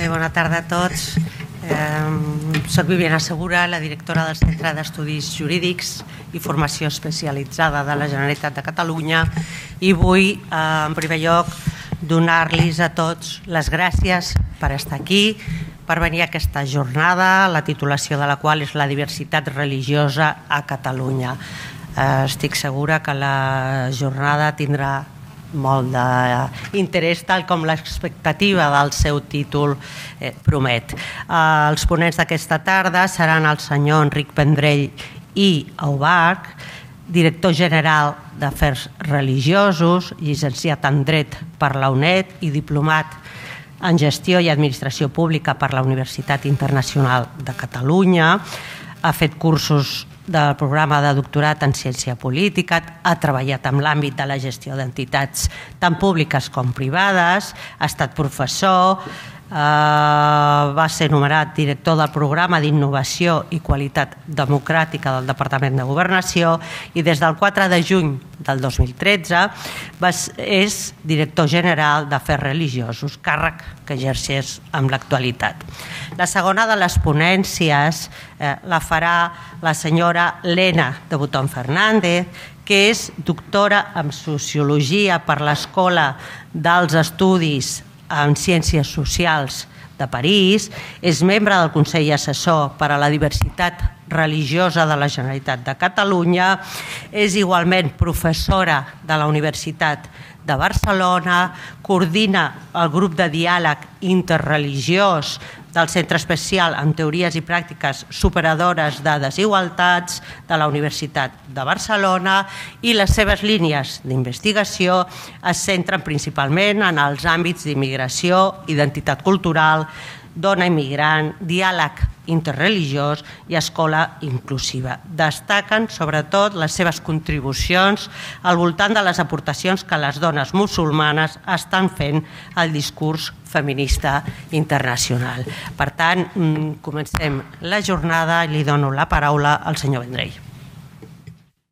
Bona tarda a tots. Soc Viviana Segura, la directora del Centre d'Estudis Jurídics i Formació Especialitzada de la Generalitat de Catalunya i vull, en primer lloc, donar-los a tots les gràcies per estar aquí, per venir a aquesta jornada, la titulació de la qual és la diversitat religiosa a Catalunya. Estic segura que la jornada tindrà molt d'interès, tal com l'expectativa del seu títol promet. Els ponents d'aquesta tarda seran el senyor Enric Vendrell i Aubach, director general d'Afers Religiosos, llicenciat en Dret per la UNED i diplomat en Gestió i Administració Pública per la Universitat Internacional de Catalunya. Ha fet cursos del programa de doctorat en Ciència Política, ha treballat en l'àmbit de la gestió d'entitats tant públiques com privades, ha estat professor, va ser nomenat director del programa d'Innovació i Qualitat Democràtica del Departament de Governació i des del 4 de juny del 2013 és director general d'Afers Religiosos, càrrec que exerceix en l'actualitat. La segona de les ponències la farà la senyora Lena de Botón Fernández, que és doctora en Sociologia per l'Escola dels Estudis en Ciències Socials de París, és membre del Consell Assessor per a la Diversitat Religiosa de la Generalitat de Catalunya, és igualment professora de la Universitat de Barcelona, coordina el grup de diàleg interreligiós del Centre Especial en Teories i Pràctiques Superadores de Desigualtats de la Universitat de Barcelona i les seves línies d'investigació es centren principalment en els àmbits d'immigració, identitat cultural, dona immigrant, diàleg interreligiós i escola inclusiva. Destaquen sobretot les seves contribucions al voltant de les aportacions que les dones musulmanes estan fent al discurs feminista internacional. Per tant, comencem la jornada i li dono la paraula al senyor Vendrell.